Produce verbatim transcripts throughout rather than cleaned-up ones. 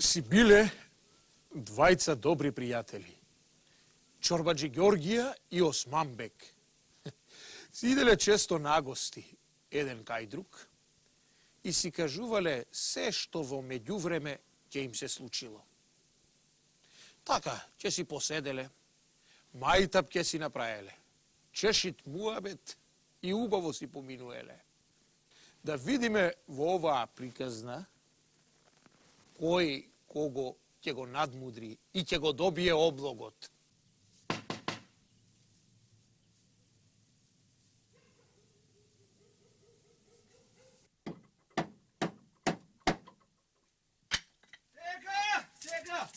си биле двајца добри пријатели. Чорбаџи Ѓорѓија и Османбек. Си иделе често на гости, еден кај друг, и си кажувале се што во меѓувреме ќе им се случило. Така, ќе си поседеле, мајтап ќе си направеле, чешит муабет и убаво си поминуеле. Да видиме во оваа приказна кој кого ќе го надмудри и ќе го добие облогот. Сега, сега!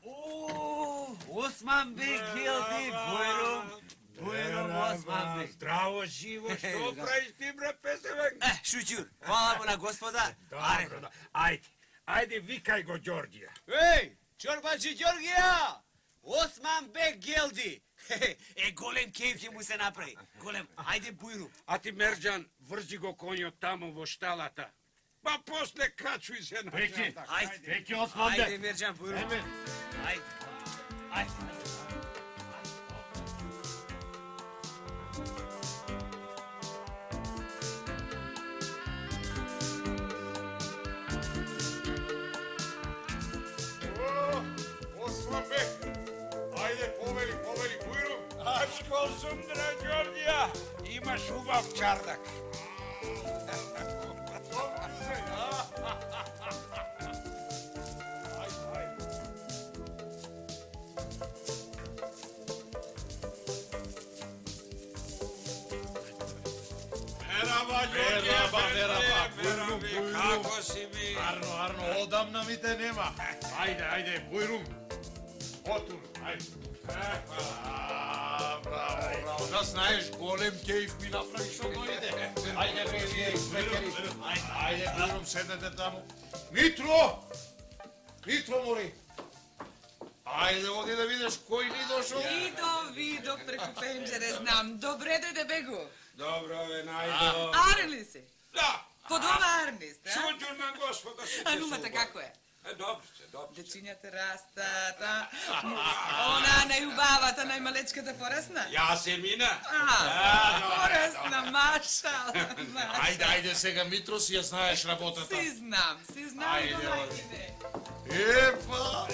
О, Османбек Ѓелди, Бујрум, Бујрум Османбек. Здраво, живо, што правиш ти, бре, песевек? Е, шуќур, хвала му на Господа. Добро, да. Ајде, ајде, викај го Ѓорѓија. Еј, Чорбаџи Ѓорѓија! Османбек Ѓелди! Е, голем кејф ќе му се направи. Голем, ајде Бујрум. А ти, Мерџан, врзи го конјот таму во шталата. Па после качуј се на Пеки, Ајде, Пеки Османбек. ајде Мерџан Бујрум. Ајде, ајде. Османбек, ајде повели, повели Бујрум. Ачко сундра, Ѓорѓија, имаш убав чардак. Мераба, Ѓорѓија, мераба, Бујрум, како си ми? Арно, Арно, одамна ми те нема. Ајде, ајде, Бујрум. Отур, ајде. А, браво, браво. Да знаеш, голем кејф ми направи што дојде. Ајде, Бујрум, ајде, Бујрум, седете таму. Митро! Митро, мори. Ајде, оди да видиш кој ни дошол. Видов, видов преку пенџере, знам. Добре дојде бегу. Добро, бе, најдо. Аре ли си? Да. Под ова арни сте, а? Шуđur на Господа си А нумата како е? Е, добро се, добро се. Дечињата растат, а? Она најубавата, најмалечката порасна? Ја се мина. А, порасна, машал. Ајде, ајде сега, Митро, си ја знаеш работата. Си знам, си знам, Ајде, но оди. најде. Епа,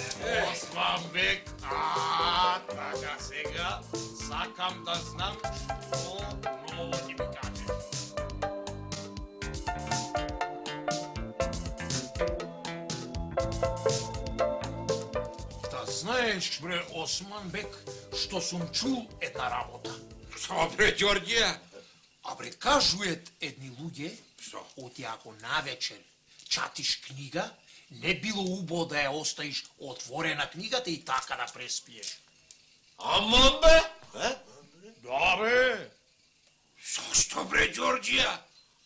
Османбек, а, така сега, сакам да знам што ново ќе ми кажеш. Да знаеш, бре, Османбек, што сум чул една работа. Што, бре, Ѓорѓија? А бре, кажует едни луѓе, Што? оти ако навечер чатиш книга, не било убаво да ја оставиш отворена книгата и така да преспиеш. Аман бе? Е? Да, бе. Зошто, бре, Ѓорѓија?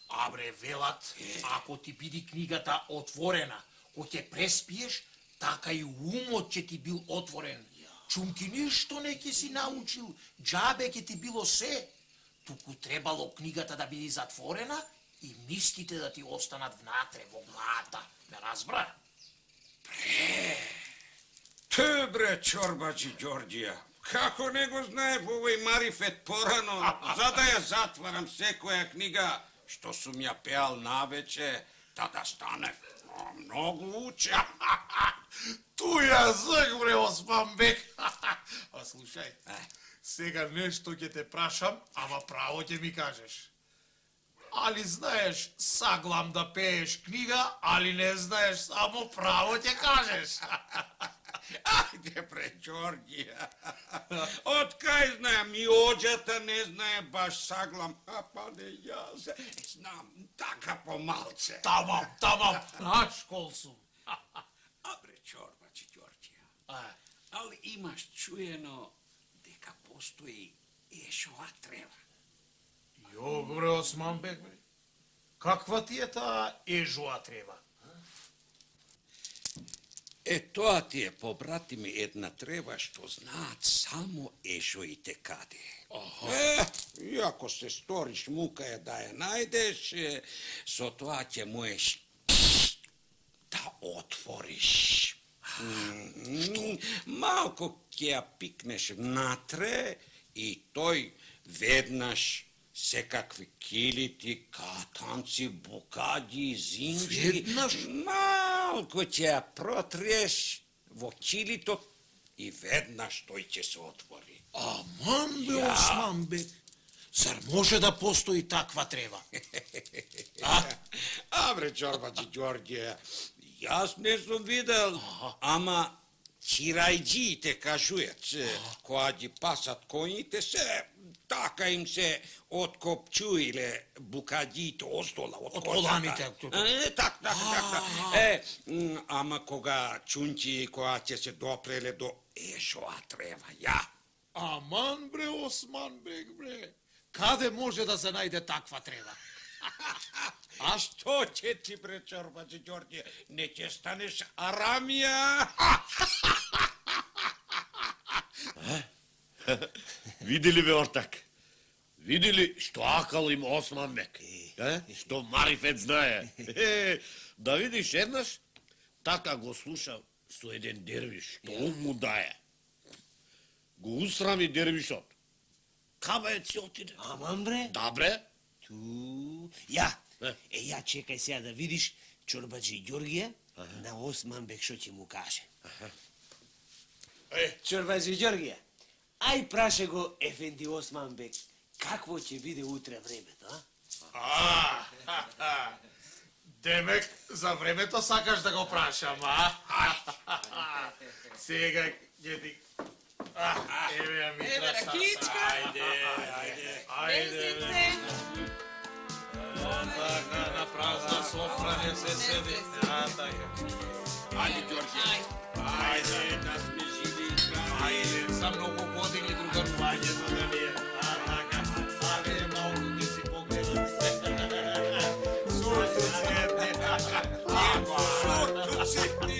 А бре, велат, ако ти биди книгата отворена, кога ќе преспиеш, така и умот ќе ти бил отворен. Чумки ништо не ќе си научил, џабе ќе ти било се. Туку требало книгата да биде затворена и мислите да ти останат внатре во главата. Ме разбра? Те, бре, Чорбаџи Ѓорѓија, како не го знае по овој марифет порано, за да ја затварам секоја книга, што сум ја пеал навече, да да стане многу уча. Ту ја зак, бре, Османбек. А слушај, сега нешто ќе те прашам, ама право ќе ми кажеш. Али знаеш саглам да пееш книга, али не знаеш само право ќе кажеш. Ајде, бре, Ѓорѓија. Од кај знаем, и оđата не знае баш саглам, а па не јас. Знам, така помалце. Тамам, тамам, наш кол сум. А, бре, Чорбаџи Ѓорѓија, али имаш чуено дека постои ешова трева. Јо, бре, Османбек, бре. Каква ти е таа ежуа трева? Е, тоа ти е, побратими, една трева што знаат само ешоите каде. Е, и ако се сториш мука е да ја најдеш, со тоа ќе му е отвориш. М, Малко ќе ја пикнеш внатре и тој веднаш секакви килити, катанци, букади, зинџи. Веднаш? Малко ќе ја протреш во килито и веднаш тој ќе се отвори. Аман бе, Осман бек. Зар може да постои таква трева? А? А, бре, чорбачи Ѓорѓе, јас не сум видел, ама чирајџиите кажујат, кога ги пасат коњите се, така им се откопчуиле букадиите остола од Од козата. коланите. Е, так, так, так, так. Е, м, ама кога чунчи, кога ќе се допреле до ешоа трева, ја. Аман бре, Осман бек бре. Каде може да се најде таква трева? А што ќе ти, бре, чорбачи Ѓорѓе, не ќе станеш арамија? Види ли ве ортак? Види ли што акал им Осман бек? Е? Што Марифет знае? Е, да видиш еднаш, така го слуша со еден дервиш, што он му дае. Го усрами дервишот. Кабајот си отиде. Аман бре? Да, бре. Ту, ја, Е. е, ја чекај сега да видиш чорбаџи Ѓорѓија на Осман бек што ќе му каже. Е, Чорбаџи Ѓорѓија, ај праше го ефенди Осман бек, какво ќе биде утре времето, а? А, демек, за времето сакаш да го прашам, а? Сега ќе ти... А, еве ја ми Еве траса. ракичка. Ајде, ајде, ајде. Месице. А, така, на празна софра не се седи. А, така. Ајде, Ѓорѓе, ајде, да сме живи и здрави. Ајде, за многу години другарувањето да ви е. А, така. Ајде, малку ти си погледам. Сурто цветни. Сурто цветни.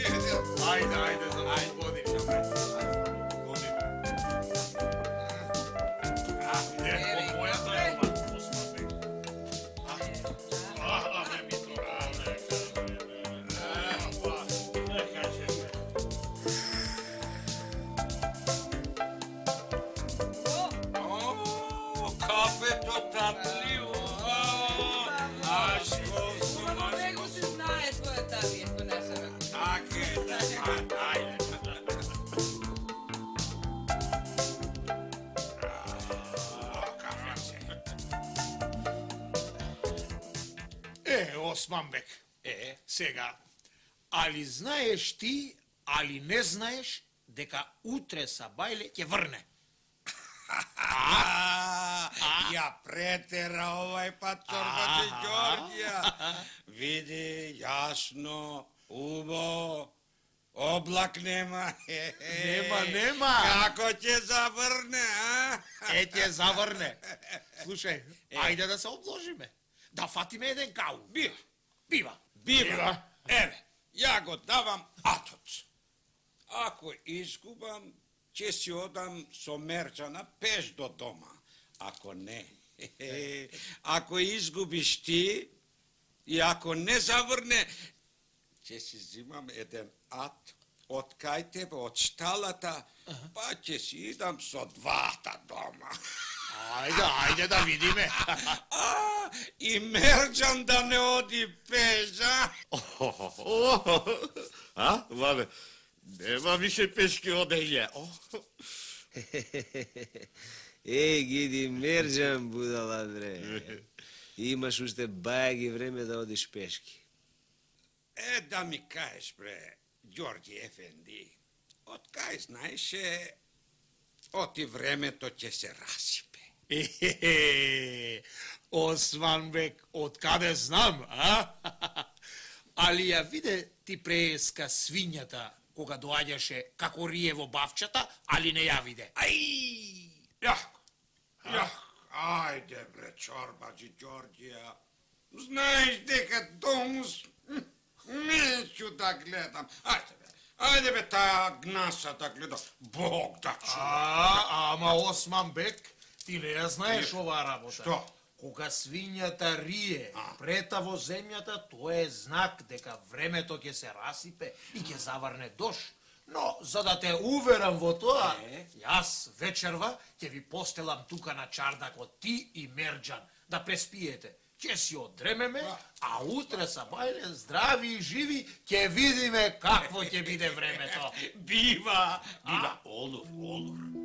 Ајде, ајде, за многу години. Кафето татливо. А што сум Во него се знае твојата вие понесена. Така е, така, ајде. Е, Осман бек. Е, Сега, али знаеш ти, али не знаеш, дека утре Сабајле ќе врне? А, ја претера овај пат чорбачи Ѓорѓија. Види, јасно, убо, облак нема. Нема, нема. Како ќе заврне, а? Е, ќе заврне. Слушај, ајде да се обложиме. Да фатиме еден кау. Бива, Бива. бива. Еве, ја го давам атоц. Ако изгубам, ќе си одам со Мерџана пеш до дома. Ако не, ако изгубиш ти и ако не заврне, ќе си зимам еден ат од кај тебе, од шталата, па ќе си идам со двата дома. Ајде, ајде да видиме. А, и Мерџан да не оди пеш, а? А, вале, нема више пешки одење. Е, гиди Мерџан будала бре. Имаш уште бајаги време да одиш пешки. Е, да ми кажеш, бре, Ѓорѓи Ефенди, од кај знаеше, оти времето ќе се расипе. Е, Осман бек, од каде знам, а? Али ја виде ти преска свињата кога доаѓаше како рие во бавчата, али не ја виде. Ај, јако, јако, ајде, бре, чорбаџи Ѓорѓија, знаеш дека домус, неću da gledam, ајде, бе, ајде, бе, таа гнаса да гледам, Бог да чува. А, ама Осман бек, ти не ја знаеш оваа работа. Што? Кога свињата рие прета во земјата, тоа е знак дека времето ќе се расипе и ќе заврне дош. Но, за да те уверам во тоа, јас вечерва ќе ви постелам тука на чардакот ти и Мерџан да преспиете. Ќе си одремеме, а утре са бајле здрави и живи ќе видиме какво ќе биде времето. Бива, бива, олур, олур.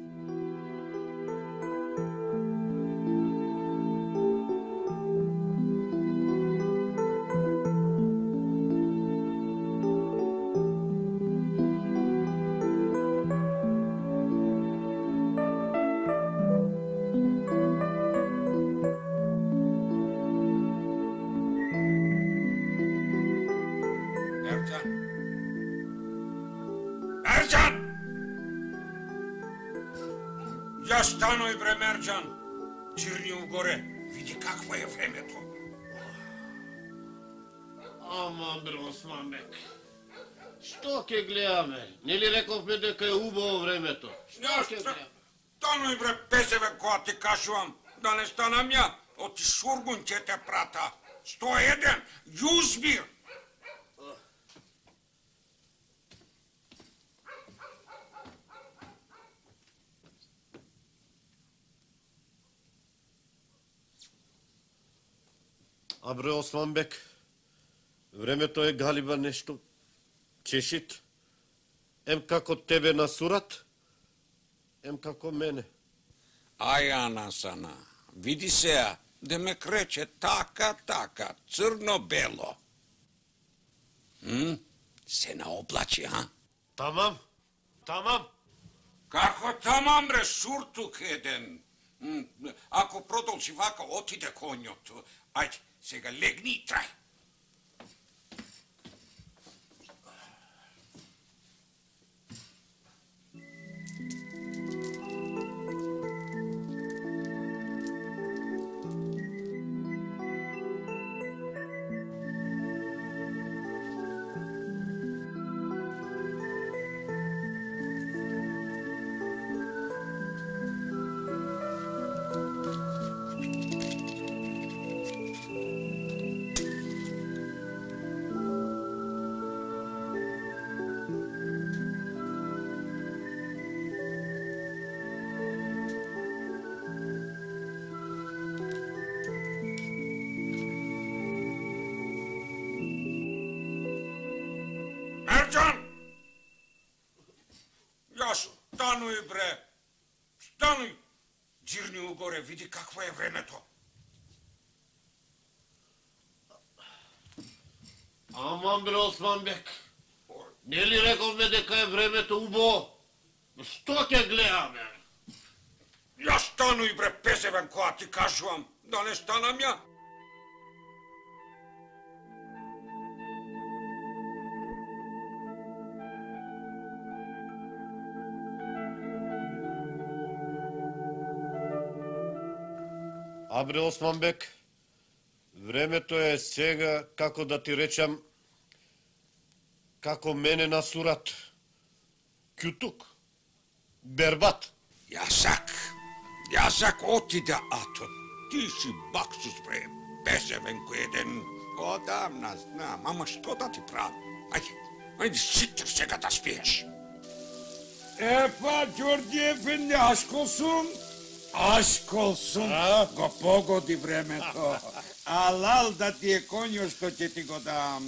Ја станој бре, Мерџан. Чирни угоре, види какво е времето. Ама, бре, Османбек, што ќе гледаме? Нели рековме дека е убаво времето? Што ќе гледаме? Станој бре, песеве која ти кажувам, да не станам ја, оти Сургун ќе те прата. сто еден, Јузбир. А бре, Османбек, времето е галиба нешто чешит. Ем како тебе на сурат, ем како мене. Ај, Анасана, види сеа, да ме крече така, така, црно-бело. М? Се наоблачи, а? Тамам, тамам. Како тамам, бре, суртук еден. М, Ако продолжи вака, отиде конјот. Ајде, сега легни и трај. Стануј, бре, стануј, џирни угоре, види какво е времето. Аман, бре, Османбек, нели рековме дека е времето убаво? Што ќе гледаме? Ја стануј, бре, песевен која ти кажувам, да не станам ја. А бре, Османбек, времето е сега, како да ти речам, како мене на сурат. Кјутук, бербат. Јасак, јасак отиде, ато ти си баксус, бре, песевен кој еден. Одамна знам, ама што да ти правам? Ајде, ајде, сите сега да спиеш. Епа, Ѓорѓи ефенди, ашкол сум, ашкол сум, го погоди времето. Алал да ти е конјо што ќе ти го дам.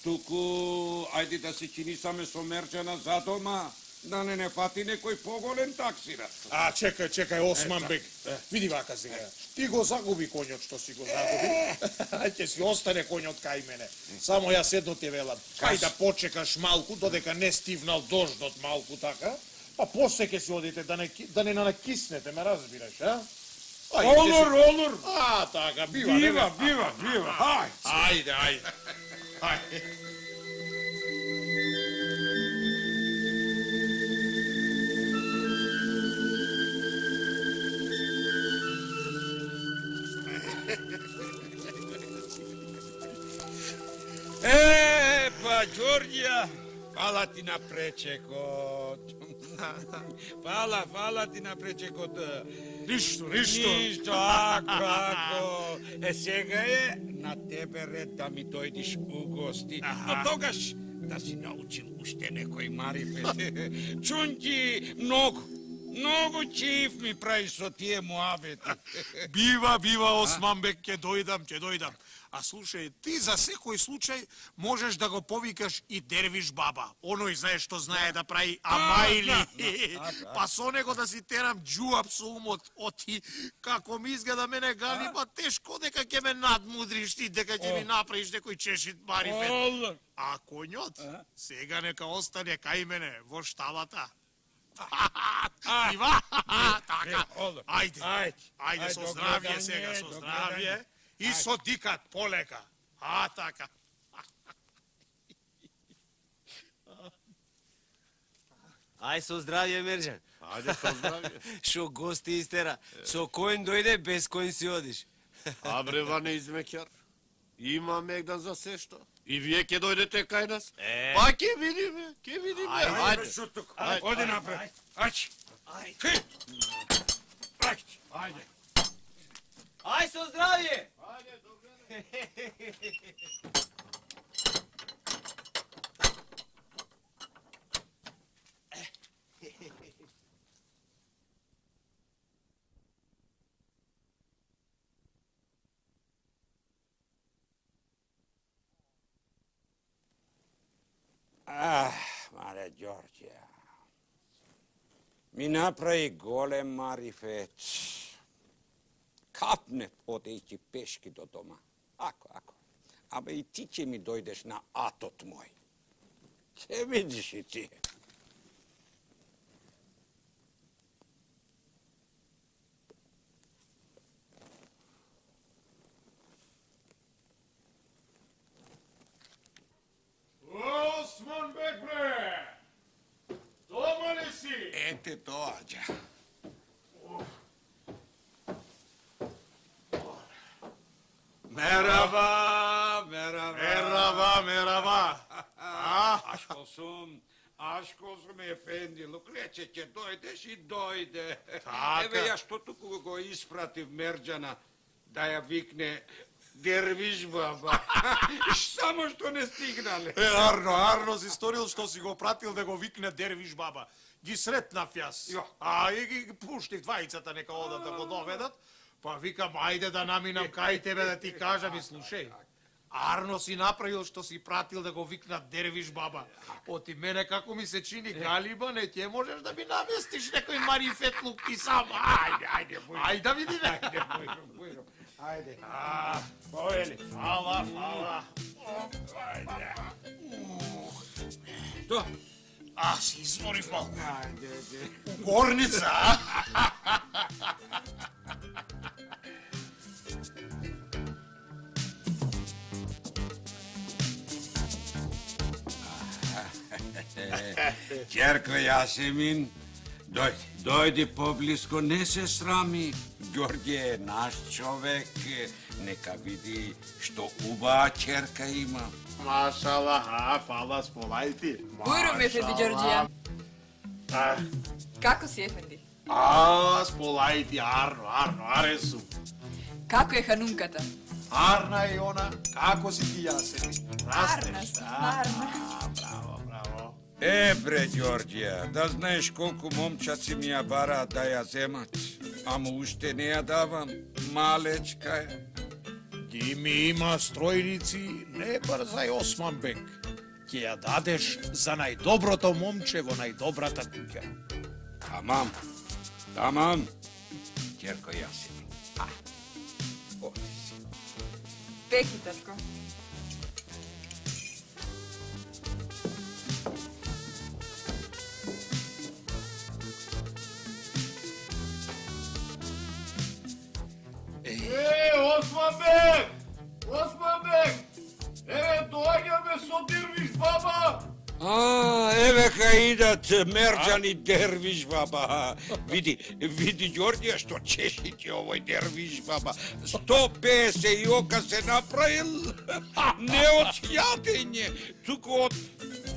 Туку, ајде да се чини саме со Мерџана за дома, да не не фати некој поголем таксира. А, чекај, чекај, Османбек, види вака сега. Ти го загуби конјот што си го загуби. Ќе си остане конјот кај мене. Само јас едно ти велам. Кај да почекаш малку, додека не стивнал дождот малку така, па после ќе си одите да не, да не накиснете, ме разбираш, а? Олур, олур! А, така, бива, Бива, бива, бива, хајде. Ајде, ајде. Ајде. Епа, Ѓорѓија, фала ти на пречекот. Фала, фала ти на пречекота. Ништо, ништо. Ништо, ако, ако. Е, сега е на тебе ред да ми дојдиш у гости. Но тогаш да си научил уште некој марифет. Чунки, многу, многу чиф ми прави со тие муабети. Бива, бива, Османбек, ќе дојдам, ќе дојдам. А слушај, ти за секој случај можеш да го повикаш и Дервиш баба. Оној знае што знае да прави амајли. Па со него да си терам џуап со умот. Оти, како ми изгледа мене гани, па тешко дека ќе ме надмудриш ти, дека ќе ми направиш некој чешит марифет. А коњот, сега нека остане кај мене, во шталата. Ива, така, ајде, ајде, со здравје сега, со здравје. И со дикат полека. А, така. Ај со здравје, Мерџан. Ајде со здравје. Шо гости истера. Со кој дојде, без кој си одиш. А бре, Ване измекјар. Има мегдан за се што. И вие ќе дојдете кај нас? Е. Па ќе видиме, ќе видиме. Ајде, шутук. Оди напред. Ајде. Ајде. Ајде. Ај со здравје. Ајде, добре. Ах, мале Ѓорѓија. Ми направи голем марифет. Капне одејќи пешки до дома. Ако, ако. Абе и ти ќе ми дојдеш на атот мој. Ќе видиш и ти. Османбек, бре! Дома ли си? Ете доаѓа. Мерава, мерава. Мерава, мерава. Ашко сум, ашко сум ефенди, лук рече ќе дојдеш и дојде. Така. Еве ја што туку го испратив Мерџана да ја викне Дервиш баба. Само што не стигнале. Е, Арно, Арно си сторил што си го пратил да го викне Дервиш баба. Ги сретнав јас. Ја. А и ги пуштив двајцата нека одат да го доведат. Па викам, ајде да наминам кај тебе да ти кажам и слушај. Арно си направил што си пратил да го викнат Дервиш баба. Оти мене како ми се чини галиба, не ќе можеш да ми наместиш некој марифетлук ти сам. Ајде, ајде, ајде да видиме. Ајде, бујрум, бујрум. Ајде. А, Поели. фала, фала. Ајде. Што? А, си изморив малку. Ајде, ајде. Горница, а? Ќерко Јасемин, дојди, дојди поблиско, не се срами. Ѓорѓе е наш човек, нека види што убава ќерка има. Машала, а, фала, сполајти. Бујрум, ефенди Ѓорѓија. А, Како си, ефенди? а, сполајти, Арно, Арно, аресу. Како е ханумката? Арна е она, како си ти Јасеми? Арна си, арна. А, браво, браво. Е, бре, Ѓорѓија, да знаеш колку момчаци ми ја бараат да ја земат, ама уште не ја давам, малечка е. Ги ми има стројници, не брзај Османбек. Ќе ја дадеш за најдоброто момче во најдобрата куќа. Тамам, тамам, ќерко Јасемин. А, оди си. Пеки, татко. Е, Османбек! Османбек! Еве, доаѓаме со Дервиш баба! А, еве кај идат Мерџан и Дервиш баба. Види, види Ѓорѓија што чеши ти овој Дервиш баба. сто песет и ока се направил. Не од јадење, туку од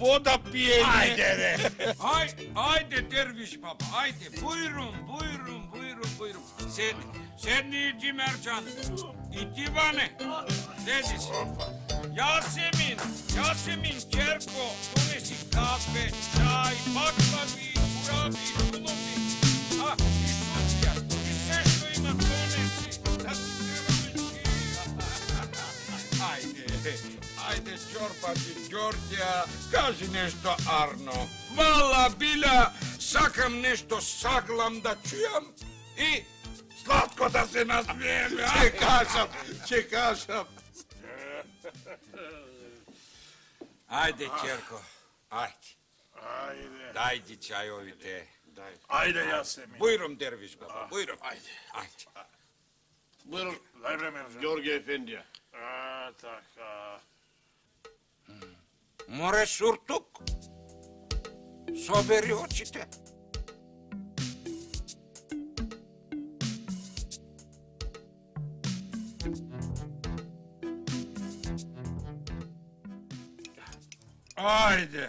вода пиење. Ајде, бе. Ај, ајде, дервиш баба, ајде, бујрум, бујрум, бујрум, бујрум. Седни, седни и ти, Мерџан. И ти, Ване, седи се. Јасемин, Јасемин, ќерко, донеси кафе, чај, баклави, кураби, кулови. А, и Софија, и се што има донеси. Да си треба ајде, ајде, Ќорбаџи Ѓорѓија, кажи нешто арно. Вала, Биля, сакам нешто саглам да чујам и сладко да се насмееме. Ќе кажам, ќе кажам. Ајде, ќерко, ајде. Ајде. Дајди чајовите. Ајде, Јасемин. Бујрум, дервиш баба, бујрум. Ајде. Ајде. Бујрум, Дај време, Мерџан. Ѓорѓе Ефендија. А, така. Море суртук. Собери очите. Ајде,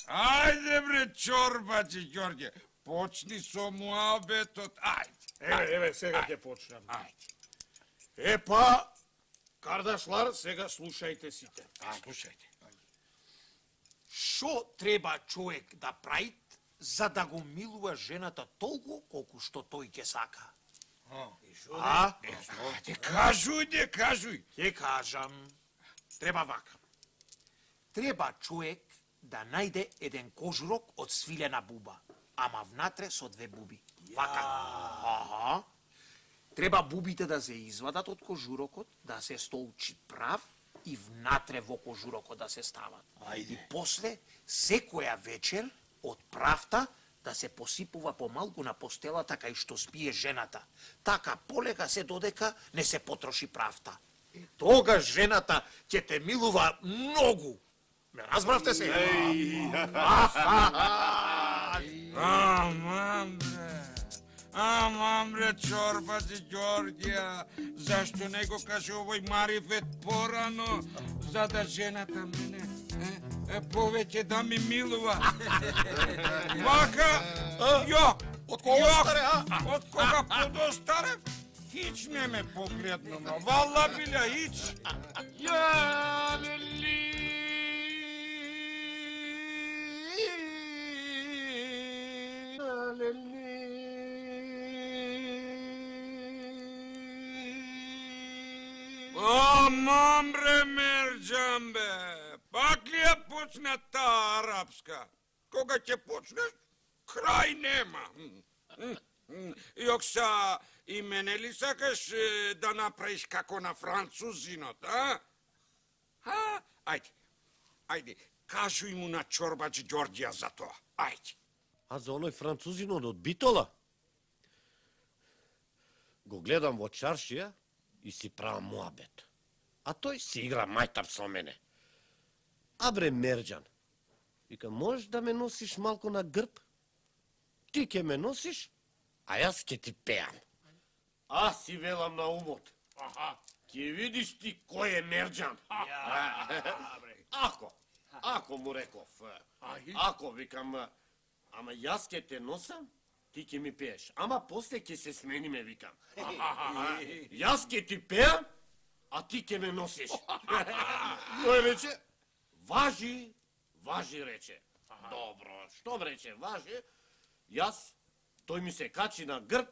ајде бре, Ќорбаџи Ѓорѓе, почни со муабетот, ајде. Еве, еве, сега ќе почнам. Ајде, Епа, Кардашлар, сега слушајте сите. слушајте. Шо треба човек да прави за да го милува жената толку колку што тој ќе сака? А? Ајде, кажуј, де, кажуј. Ќе кажам. Треба вака. Треба човек да најде еден кожурок од свилена буба, ама внатре со две буби. Вака. Аха. Треба бубите да се извадат од кожурокот, да се столчи прав и внатре во кожурокот да се стават. Ајде. И после, секоја вечер, од правта да се посипува помалку на постелата кај што спие жената. Така полека се додека не се потроши правта. И тогаш жената ќе те милува многу. Ме разбравте се? Амам бре, амам бре, Ќорбаџи Ѓорѓија, зашто не го каже овој марифет порано, за да жената мене е, е повеќе да ми милува. Вака, ја, Од кога старе, а? од кога подостарев, хич не ме погледна, но вала Биля, хич. Ја, лели. Амам бре, Мерџан бе, пак ли ја почна таа арапска? Кога ќе почнеш, крај нема. Јокса, и мене ли сакаш да направиш како на французинот, а? А? Ајде, ајде, кажуј му на Ќорбаџи Ѓорѓија за тоа, ајде. А за оној французинот од Битола? Го гледам во чаршија и си правам муабет. А тој си игра мајтар со мене. А бре, Мерџан, вика, можеш да ме носиш малку на грб? Ти ќе ме носиш, а јас ќе ти пеам. А си велам на умот. Аха, ќе видиш ти кој е Мерџан. Ако, ако му реков, ако викам, ама јас ќе те носам, ти ќе ми пееш. Ама после ќе се смениме, викам. Јас ќе ти пеам, а ти ќе ме носиш. Тој рече, важи, важи, рече. Добро, што рече, важи. Јас, тој ми се качи на грб,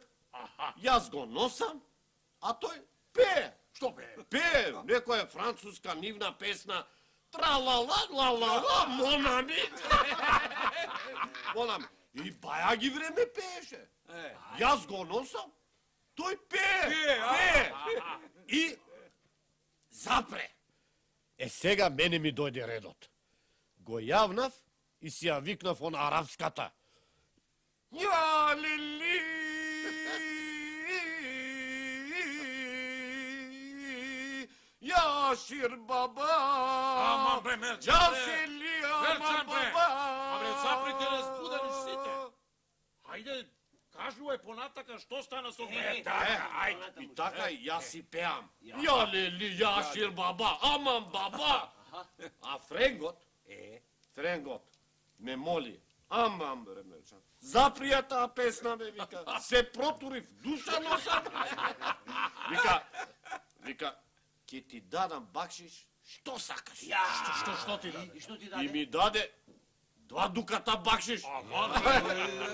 јас го носам, а тој пее. Што бе? Пее, некоја француска нивна песна, тра-ла-ла-ла-ла-ла, монами. Монами. И баја ги време пееше. Јас го носам, тој пее, пее. И запре. Е, сега мене ми дојде редот. Го јавнав и си ја викнав он арапската. Ја лили, ја шир баба. Ама бре, Мерџан, Ја бре. се ли, Мерџан, ама бре. баба. Абре, заприте разбудени сите. Хајде, кажувај понатака што стана со мене. Ајде, и така и јас си пеам. Ја лели, ја шир баба, амам баба. А френгот, е, Стренгот ме моли, амам бре меча. Заприја таа песна, бе, вика. Се протурив, душа носам. Вика, вика, ќе ти дадам бакшиш, што сакаш? Ја, Што, што, што ти даде? И што ти И даде? ми даде два дуката бакшиш.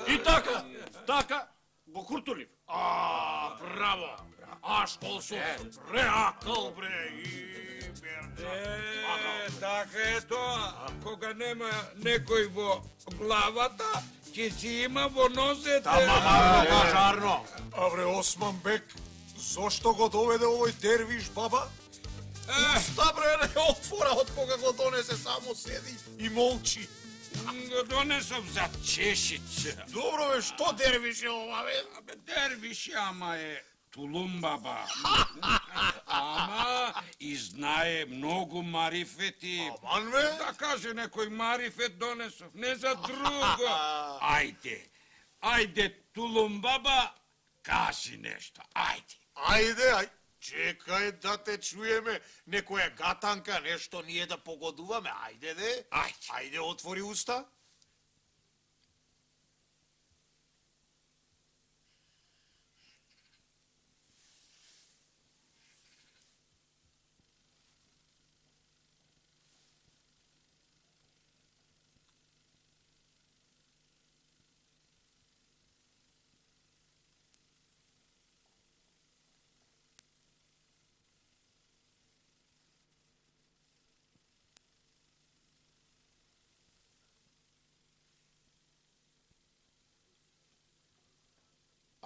И така, така, го куртулив. А, браво! Ашколсов, реакал, бре, и берча. Е, така е тоа. Кога нема некој во главата, ќе си има во нозете. Мама, пожарно. А бре, Осман Бек, зошто го доведе овој дервиш, баба? Уста, бре, не отвора од кога го донесе, само седи и молчи. Го донесов за чешица. Добро, бе, што дервиш е ова, бе? Абе, дервиш, ама е тулумбаба. Ама и знае многу марифети. Аман, бе? Да каже некој марифет донесов, не за друго. Ајде, ајде, тулумбаба, кажи нешто, ајде. Ајде, ај, чекај да те чуеме, некоја гатанка, нешто ние да погодуваме, ајде де. Ајде. Ајде, отвори уста.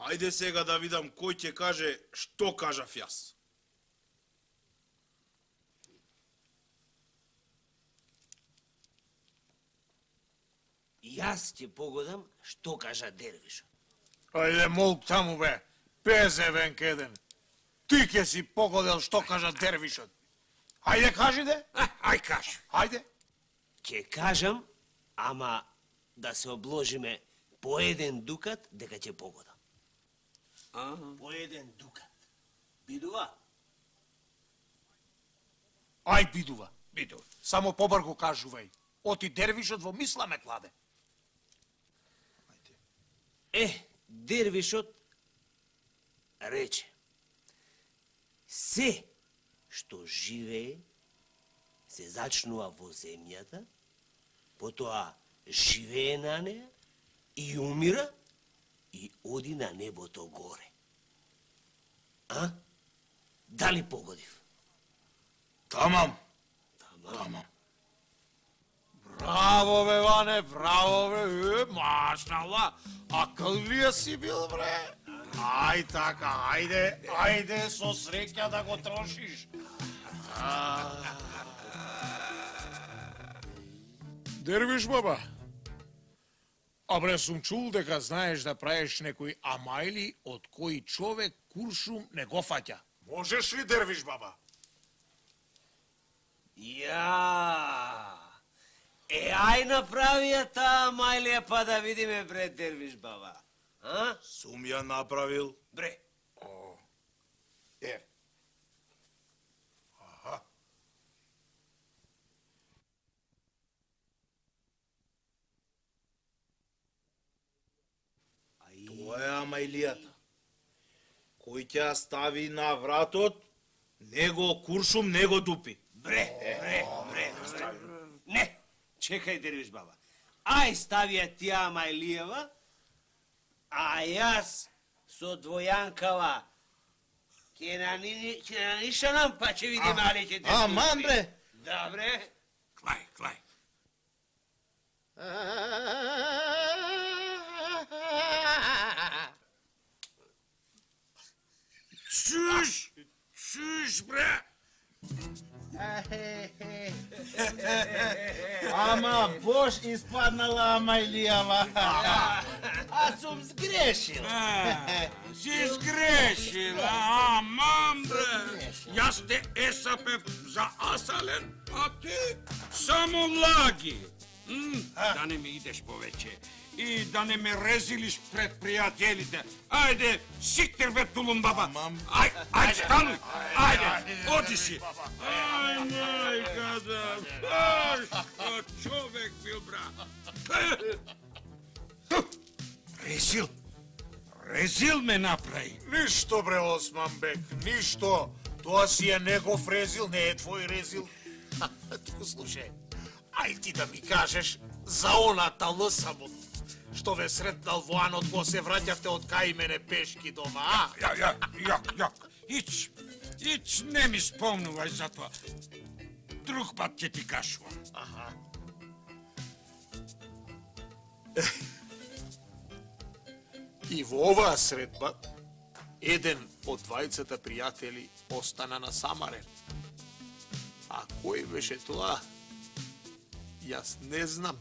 Ајде сега да видам кој ќе каже што кажав јас. Јас ќе погодам што кажа дервишот. Ајде, молк таму, бе. Пезе венкеден. Ти ќе си погодел што кажа дервишот. Ајде, кажи де. Ај кажи. Ајде. Ќе кажам, ама да се обложиме по еден дукат дека ќе погодам. По еден дукат. Бидува? Ај, бидува. Бидува. Само побрзо кажувај. Оти дервишот во мисла ме кладе. Е, дервишот рече: се што живее се зачнува во земјата, потоа живее на неа и умира и оди на небото горе. А? Дали погодив? Тамам. Тамам. Браво, бе, Ване, браво, бе, е, машала, акъллија си бил, бре. Ај така, ајде, ајде, со среќа да го трошиш. Дервиш, баба, а бре, сум чул дека знаеш да правиш некои амајли од кои човек куршум не го фаќа. Можеш ли, Дервиш, баба? Ја! Е, ај направи ја таа мајлија па да видиме, бре, дервиш баба. А? Сум ја направил. Бре. Е. Аха. Тоа е амајлијата. Кој ќе ја стави на вратот, него куршум, него дупи. Бре, бре, бре. Не, чекај, дервиш баба. Ај ставија тија мајлијава, а јас со двојанкава ќе нанишанам, па ќе видиме али ќе те Аман, бре. Да, бре. Клај, клај. Чуш, чуш, бре. Ама бош испаднала амајлијава. А сум сгрешил. Си сгрешил, амам, бре. Јас те есапев за асален, а ти само лаги. М, да не ми идеш повеќе. и да не ме резилиш пред пријателите. Ајде, сиктер бе тулун баба. Ај, ај, стануј. Ајде, оди си. Ај, мајка да. Ај, што човек бил, бра. Резил. Резил ме направи. Ништо, бре, Османбек, ништо. Тоа си е негов резил, не е твој резил. Ту слушај, ај ти да ми кажеш за оната лсамот, што ве сретнал во анот кога се враќавте од кај мене пешки дома, а? Ја, ја, јак, јак. Ич, ич не ми спомнувај за тоа. Друг пат ќе ти кажувам. Аха. И во оваа средба, еден од двајцата пријатели остана на самарен. А кој беше тоа? Јас не знам.